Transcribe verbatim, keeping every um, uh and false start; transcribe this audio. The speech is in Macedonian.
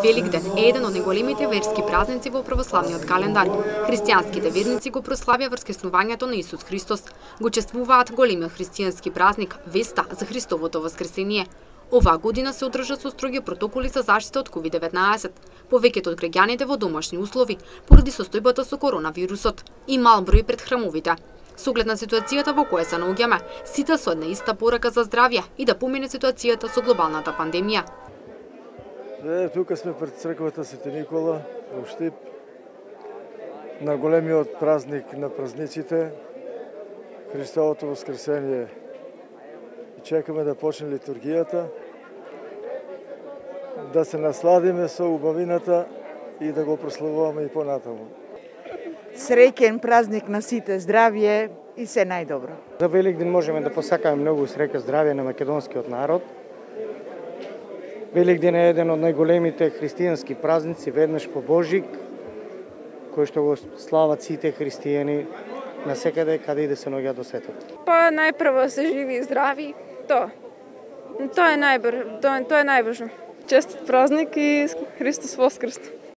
Великден е еден од најголемите верски празници во православниот календар. Христијанските верници го прославија воскреснувањето на Исус Христос. Го чествуваат големиот христијански празник, веста за Христовото воскресение. Оваа година се одржа со строги протоколи за заштита од ковид деветнаесет. Повеќето од граѓаните во домашни услови поради состојбата со коронавирусот и мал број пред храмовите. Со оглед на ситуацијата во која се наоѓаме, сите со една иста порака за здравје и да помине ситуацијата со глобалната пандемија. Е, тука сме пред црквата Свети Никола во Штип, на големиот празник на празниците, Христовото воскресение. Чекаме да почне литургијата, да се насладиме со убавината и да го прославуваме и понатаму. Среќен празник на сите, здравје и се најдобро. За Великден можеме да посакаме многу среќа, здравје на македонскиот народ. Великден е еден од најголемите христијански празници, веднаш по Божик, кој што го слават сите христијани на секаде каде и да се наоѓаат до светот. Па најпрво се живи и здрави, тоа. Тоа е најбр, тоа, тоа е најважно. Честит празник и Христос воскрес!